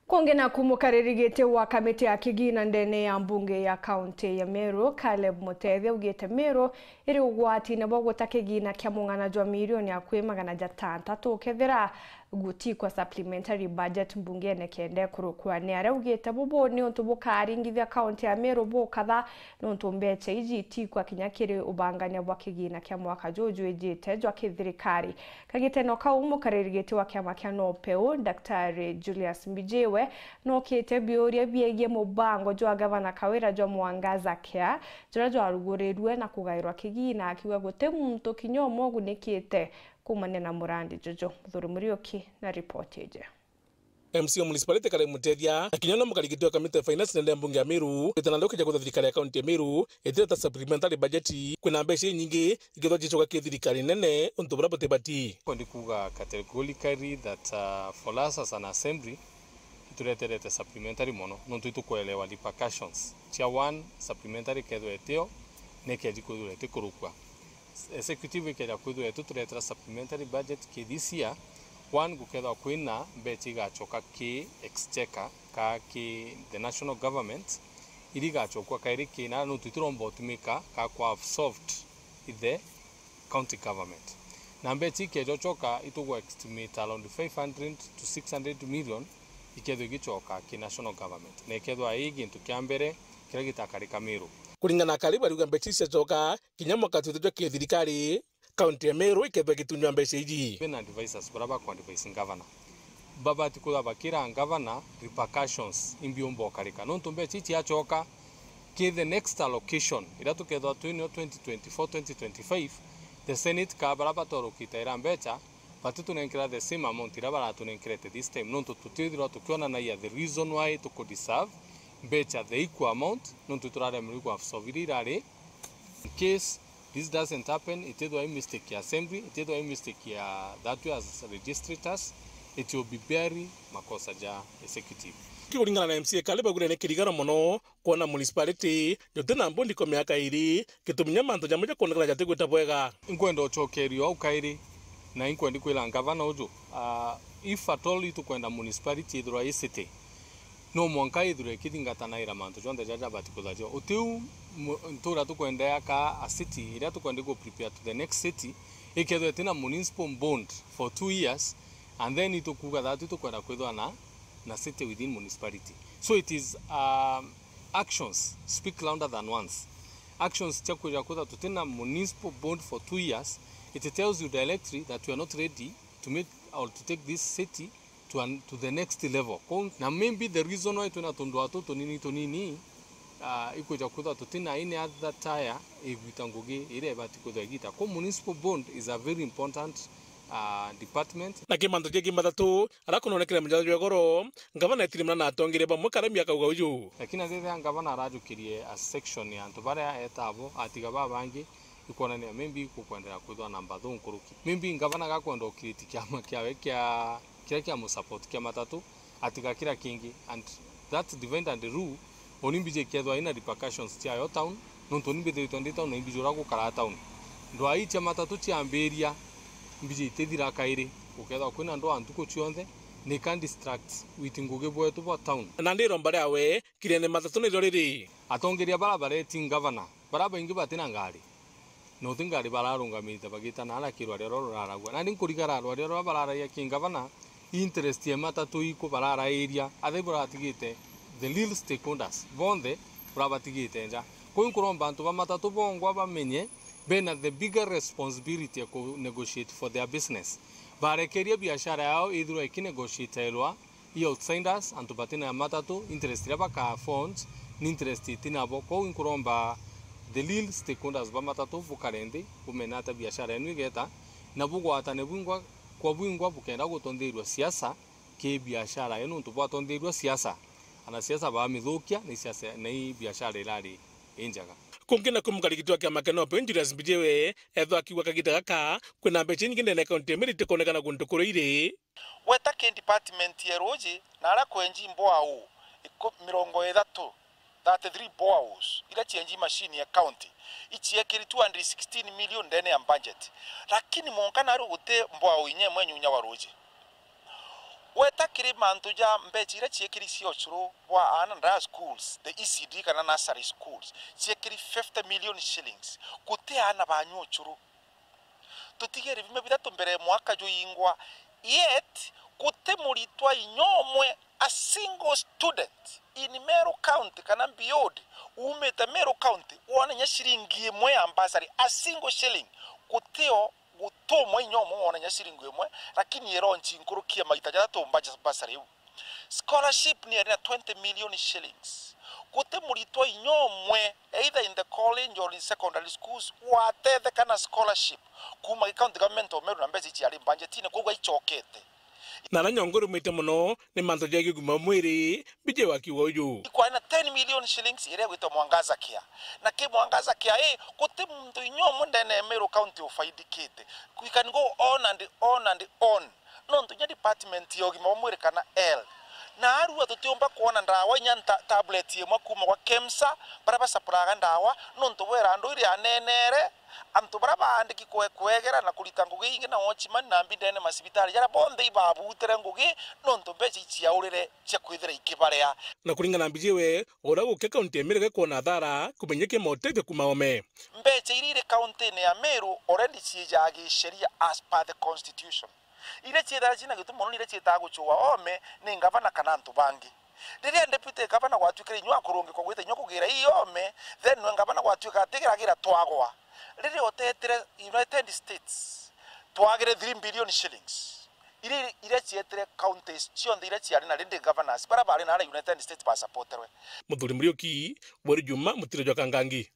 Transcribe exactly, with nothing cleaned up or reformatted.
Kungi naku, mukariri giti wa kamiti ya kigina ndene ya mbunge ya kaunti ya Meru, Caleb Mutethia, augite Meru iri ugwatine bwa guta kigina kia mung'ana jwa milioni akui magana jatantatu kethira gutikwa supplementary budget mbungene kenda ikurukwa. Ni aria augite bubu ni untu bukaringithia kaunti ya Meru bukatha, nontu mbecha iji itikwa kinya kiri ubangania bwa kigina kia mwaka juju ijite jwa kithirikari. Kagiteno kau, mukariri giti wa kiama kia NOPEU, Daktari Julius Mbijiwe, nokite biuria biegie mubango jwa Gavana Kawira jwa Mwangaza Care, juria jwarugurirue na kugairwa kigina, akiuga guti muntu kinya umwe ugunikite kuumania na murandi juju. Muthuri Muriuki na ripoti iji. M C A wa municipality Caleb Mutethia, na kinya no mukarigiti wa kamiti ya finance ndene ya mbunge ya Meru, gwitana ndoki ja kwithwa thirikari ya kaunti ya Meru itireta supplementary budget, kwina mbeca inyingi ikethwa cicoka ki thirikari nene untu buria butibati. Ndi kuuga categorically that, uh, for us as an assembly, itureterete supplementary mono, nontu itukwelewa repercussions cia one supplementary kethwa itio, nekeji kwithirwa itikurukua. Executive ikeja kwithirwa ituturetera supplementary budget ki this year, one, gukethwa kwina mbecha igachoka ki exchequer ka ki the national government, iria igachokua kairi kina, nontu itiromba utumika ka kwa absorbed i the county government. Na mbecha ikejochoka, itugwa estimate around five hundred to six hundred million ikethwa igichoka ki national government, na ikethwa i gintu kia mbere kiria gitakarika Meru. Kuringana na Kariba, ariuga mbecha icio ciacoka kinya mwaka twitijwe ki thirikari, kaunti ya Meru ikethwa igitunywa mbecha iji. Bena advisors baria bakwa advise governor, babati kwithirwa bakira governor repercussions imbi umba ukarika, nontu mbecha iji ciacoka ki the next allocation iria tukethwa twinio twenty twenty-four, twenty twenty-five, the Senate ka baria batorokite ira mbecha, batitunenkera the same amount iria baratunenkerete this time, nontu tutithirwa tukionanagia the reason why tuku deserve mbecha the equal amount, nontu turaremerwa ku absorb iria irari. In case this doesn't happen, itithwa i mistake ya assembly, itithwa i mistake ya that we as registrators, it will be very makosa ja executive. Kikuringana na M C A Kariba, augire ni kirigano mono kwona municipality juti na mbundi kwa miaka iri, gitumi kinya mantu jamwe jakwonekana jatigwita bwega. Inkwenda ucokerio au kairi, na inkwendi kwira ngavana uju, ah, if at all itukwenda municipality ithirwa i city, no mwanka ithirwe ikithingatanaira mantu jonthe jaria jabati kuthajwa. Utiu mu-, ntura tukwenda yaka a city, iria tukwenda ku prepare to the next city, ikethwa itina municipal bond for two years, and then itukuga that itukwenda kwithwa na, na city within municipality. So it is, um, actions speak louder than words. Actions cia kwija kwithwa tutina municipal bond for two years, it tells you directly that we are not ready to make or to take this city to an, to the next level. Kou, na maybe the reason why twina tundwaa tuu tunini tunini, ah, ikwija kwithwa tutina any other tire igwita ngugi iria ibati kwithwa igita. Kou municipal bond is a very important, ah, department. Na kimantu gia kimathatu, ara kunonekere mujanja jwa igoro, ngavana etirimana na atongeria bamwe karami akauga uju. Lakini athithia ngavana arajukirie a section ya antu baria etabo, atiga babangi, ikwonania maybe ikukwendera kwithwa na mbathu nkuruki. Maybe ngavana gakwenda ukiriti kiama kiawe kia, kiria kia musupport kia matatu, atiga kira kingi, and that divide and rule, oni mbiji ikethwa ina repercussions ciayo town, nontu ni mbithiritwe ndi town na imbiji uria gukara town. Ndwaa ii cia matatu ciambiria, mbiji itithira kairi, gukethwa kwina ndwaa ntuku cionthe, ni ka distract witi ngugi bwetu bwa town. Na ndiromba riawe, kiriene matatu nirio riri. Atongeria bara bareti ngavana, bara baingi batina ngari. Na uti ngari bararungamirite bagitana ara kirwaria ruria ruraragua. Nandi nkurigara rwaria ruria bararagia ki ngavana, interest ya matatu iku bararairia, athai buratigite the real stakeholders bonthe burabatigite nja. Kou nkuromba antu ba matatu bongwa bamenye bena the bigger responsibility ya ku negotiate for their business. Barekeria biashara yao ithirwa ikinegotiatirwa i outsiders, antu batina matatu, interest iria baka afford ni interest itinabo. Kou inkuromba the real stakeholders ba matatu bukare nthi, bumenye ata biashara yenu igeta, na bugwatane bwingwa kwa bwingwa bukenda gutonthirua siasa ki biashara yenu, nontu bwatonthirua siasa, anasiasa bamithukia, na i siasa, na i biashara irari injega. Kungi naku mukarigiti wa kiama kia NOPEU Julius Mbijiwe ethwa akiuga kagita gaka kwina mbeca inyingi ndene ya kaunti ya Meru itikonekana guntu kuria iri. Gweta ki department ya ruuji na aria kwenji mbwau iku-, mirongo ithatu, thirty-three boreholes, iria cienji machine ya county, iciekiri two hundred sixteen million ndene ya budget. Lakini mwanka naru guti mbwau inya imwe nyunya wa ruuji. Gweta kiri mantu ja mbeca iria ciekiri cia ucuru bwa aana nda schools, the E C D kana nursery schools, ciekiri fifty million shillings, guti aana banyua ucuru. Tutigere bimwe bithatu mbere mwaka juingwa, yet guti muritwa inya umwe, a single student in Meru County kana beyond, uumite Meru County, wona inya ciringi imwe ya bursary, a single shilling, gutio gutumwa inya umwe wona inya ciringi imwe, lakini ironchi nkuruki ya maita jathatu mbaja bursary iu. Scholarship ni iri na twenty million shillings. Guti muritwa inya umwe, either in the college or in secondary schools, watetheka na scholarship kuuma gi county government of Meru na mbeca ici ciari budgetine, koguo aichokete. Na aria nyongo irumite mono ni mantu ja ugima wa mwiri, B J wa kiuga uju. Ikwari na ten million shillings iria igwitwa Mwangaza Care. Na ki Mwangaza Care ii, guti muntu inya umwe ndene ya Meru County ufaidikite. We can go on and on and on. Nontu inya department ya ugima bwa mwiri kana health, naarua tutiumba kwona ndawa inya nta-, tablet imwe kuuma gwa KEMSA, baria basapuraga ndawa, nontu bwera andu iria anenere, antu baria baandiki kwe-, kwegera na kurita ngugi ingi na watchman na mbi ndene masibitari jaria bonthe ibabutire ngugi, nontu mbeca iciaurire cia kwithira ikibaria. Na kuringana na B J we, uria guke kaunti ya Meru gakwona athara kumenyeke mautethio kuuma oome. Mbeca iria iri kauntine ya Meru already ciijaa giceria as per the constitution. Iria ciithaga cina gitumi mono ni iria ciitaga gucua oome ni ngavana kana antu bangi. Riria deputy governor gwatuikire inyua kurungikwa gwita inyua kugira ii oome, then we ngavana gwatuika atigiragira twagwa. Riria utetire United States, twagire three billion shillings. Iria, iria cietire counties cionthe iria ciari na rindi governors, baria bari na aria United States basapoterwe. Muthuri Muriuki, Bweri Juma, Mutiro jwa Kangangi.